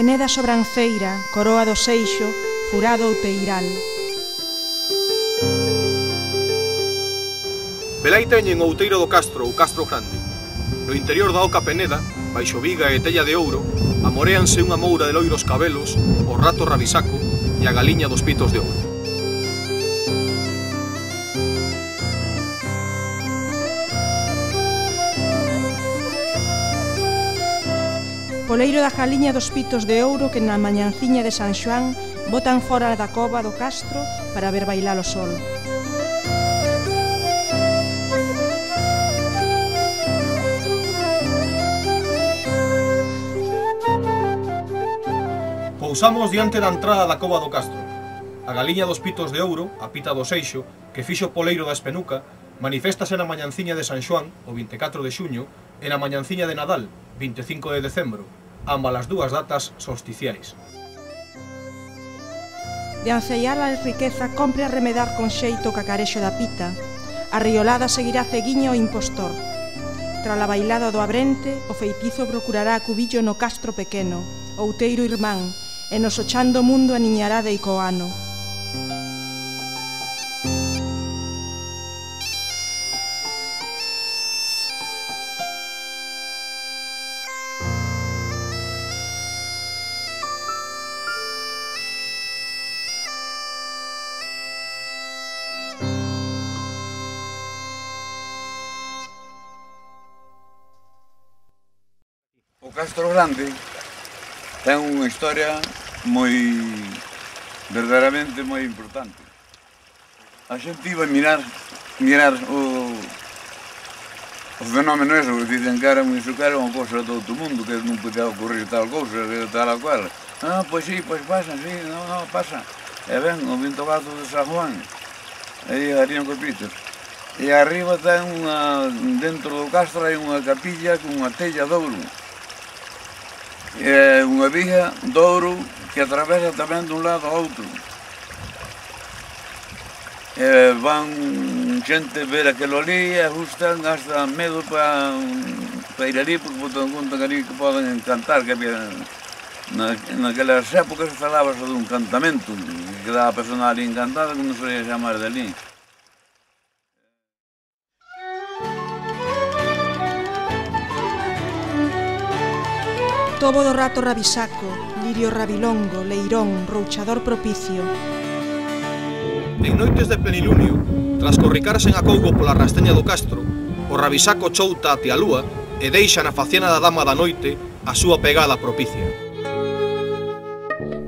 Peneda sobranceira, coroa do seixo, furado outeiral. Velai teñen o outeiro do Castro, o Castro Grande. No interior da oca Peneda, baixo viga e tella de ouro, amoréanse unha moura de loiros cabelos, o rato rabisaco e a galiña dos pitos de ouro. Poleiro da galiña dos pitos de ouro que na mañanciña de San Xoán botan fora da cova do Castro para ver bailar o sol. Pousamos diante da entrada da cova do Castro. A galiña dos pitos de ouro, a pita do seixo, que fixo Poleiro da Espenuca, maniféstase na mañanciña de San Xoán, o 24 de xuño, e na mañanciña de Nadal, 25 de decembro, ambas as dúas datas solsticiais. De anceiar a riqueza compre arremedar con xeito o cacarexo da pita. A riolada seguirá ceguiña o impostor. Tra a bailada do abrente, o feitizo procurará cubillo no Castro pequeno, outeiro irmán, e nos ochando mundo aniñará de Icoano. O Castro Grande ten unha historia verdadeiramente moi importante. A xente iba a mirar o fenómeno eso, que dicen que era unha cousa de todo o mundo, que non podía ocurrir tal cousa, tal a cual. Ah, pois sí, pois pasa, sí, non, pasa. E ven, o Vinto Gato de San Juan, aí harían copitos. E arriba ten dentro do Castro hai unha capilla con unha tella de ouro. É unha viga de ouro que atravesa tamén dun lado ao outro. Van xente ver aquilo ali e gustan hasta medo para ir ali, porque botan conta que ali que poden cantar, que había naquelas épocas falábase dun cantamento, que quedaba a persona ali encantada, que non se ia chamar de ali. Tobo do rato rabisaco, lirio rabilongo, leirón, rouchador propicio. En noites de plenilunio, tras corricarse en acougo pola rasteña do Castro, o rabisaco chouta até a lúa e deixa na faciana da dama da noite a súa pegada propicia.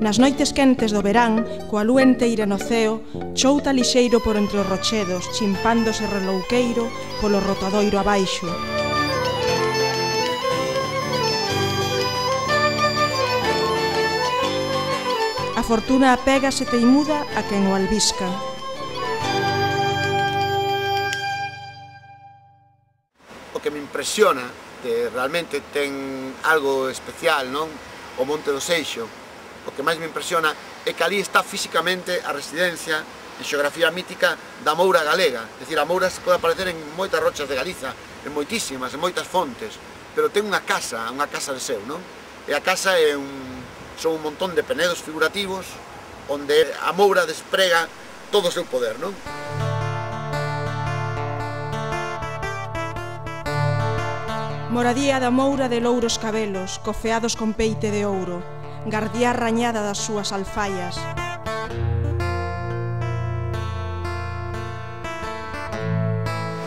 Nas noites quentes do verán, coa lúa enteira no ceo, chouta lixeiro por entre os rochedos, chimpándose relouqueiro polo rotadoiro abaixo. A fortuna apégase teimuda a quen o albisca. O que me impresiona, que realmente ten algo especial, non? O Monte do Seixo. O que máis me impresiona é que ali está físicamente a residencia en xeografía mítica da moura galega. É dicir, a moura se pode aparecer en moitas rochas de Galiza, en moitísimas, en moitas fontes, pero ten unha casa de seu, non? E a casa é son un montón de penedos figurativos onde a moura desprega todo o seu poder, non? Moradía da moura de louros cabelos, cofeados con peite de ouro, gardía rañada das súas alfaias.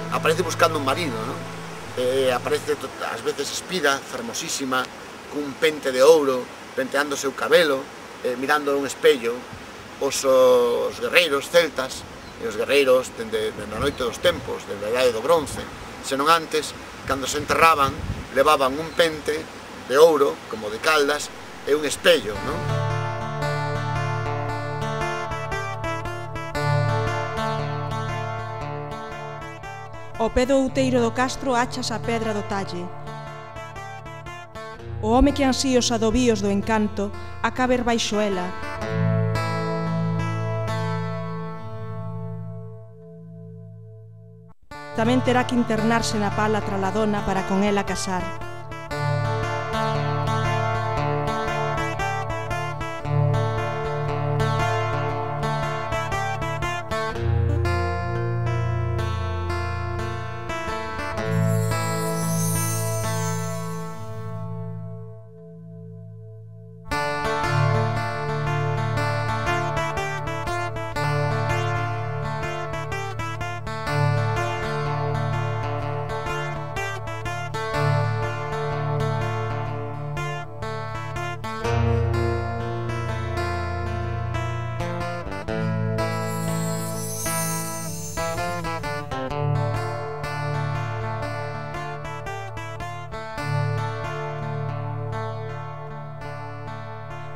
Aparece buscando un marido, non? Aparece ás veces espida, fermosísima, cun pente de ouro, penteando o seu cabelo, mirando un espello, os guerreiros celtas e os guerreiros dende a noite dos tempos, dende a idade do bronce, senón antes, cando se enterraban, levaban un pente de ouro, como de Caldas, e un espello, non? Ao pé do outeiro do Castro achas a pedra do talle. O home que ansía os adovíos do encanto a caber baixo ela. Tamén terá que internarse na pala trala dona para con ela casar.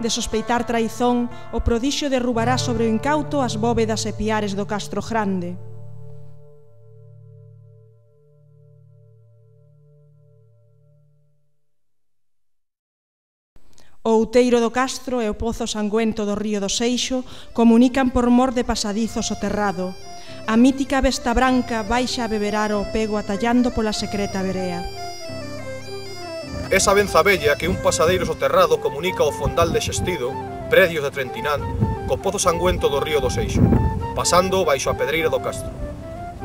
De sospeitar traizón, o prodixio derrubará sobre o incauto as bóvedas e piares do Castro Grande. O outeiro do Castro e o pozo sangüento do río do Seixo comunican por mor de pasadizos o terrado. A mítica besta branca baixa a beberar o pego atallando pola secreta verea. Esa benza bella que un pasadeiro soterrado comunica o fondal de Xestido, predios de Trentinán, co pozo sangüento do río do Seixo, pasando baixo a pedreira do Castro.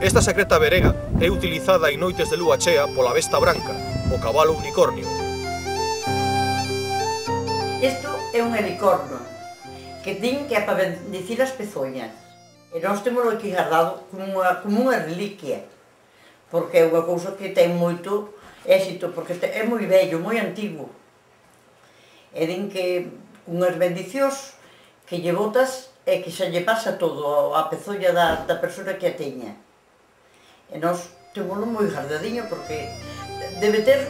Esta secreta verega é utilizada en noites de lúa chea pola besta branca, o cabalo unicornio. Isto é un helicorno que din que é para bendicir as pezoñas. E nós temos aquí guardado como unha reliquia, porque é unha cousa que ten moito éxito, porque é moi bello, moi antigo. E din que unhas bendicións que lle botas e que xa lle pasa todo a pezoña da persona que a teña. E nós temos moi guardadiño porque debe ter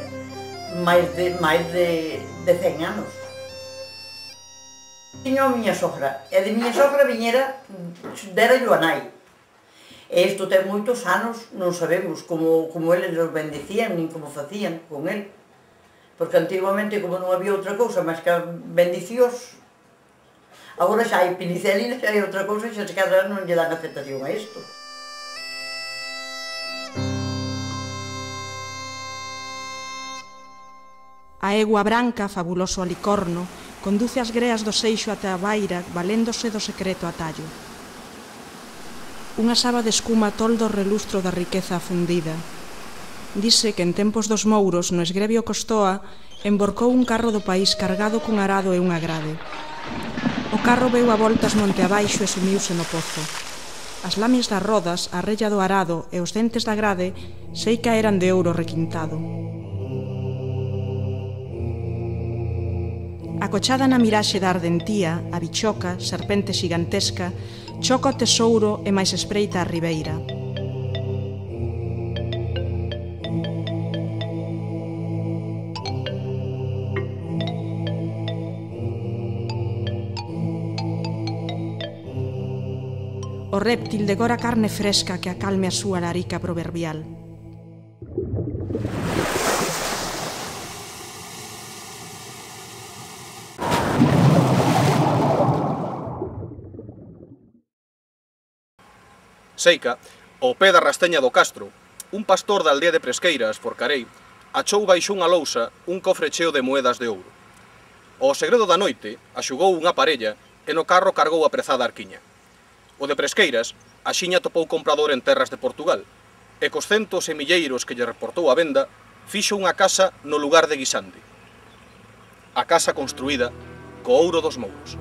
máis de 100 anos. Tiño a miña sogra, e de miña sogra viñera, dera yo a nai. E isto ten moitos anos, non sabemos como eles nos bendicían, nin como facían con el. Porque antiguamente, como non había outra cousa, máis que bendicións, agora xa hai penicelinas, xa hai outra cousa, xa se cada non lle dan aceptación a isto. A egua branca, fabuloso alicorno, conduce as greas do Seixo até a baira, valéndose do secreto atallo. Unha saba de escuma tolda o relustro da riqueza afundida. Dise que en tempos dos mouros, no esgrebio Costoa, emborcou un carro do país cargado cun arado e unha grade. O carro veu a voltas monte abaixo e sumiuse no pozo. As lamias das rodas, a rella do arado e os dentes da grade sei que eran de ouro requintado. Acochada na miraxe da ardentía, a bichoca, serpente xigantesca, choca o tesouro e máis espreita a ribeira. O réptil degora carne fresca que acalme a súa larica proverbial. Seica, ao pé da rasteña do Castro, un pastor da aldea de Presqueiras, Forcarei, achou baixo unha lousa un cofre cheo de moedas de ouro. Ao segredo da noite, axugou unha parella e no carro cargou a prezada arquiña. O de Presqueiras, axiña topou comprador en terras de Portugal, e cos centos e milleiros que lle reportou a venda, fixo unha casa no lugar de Guisande. A casa construída co ouro dos mouros.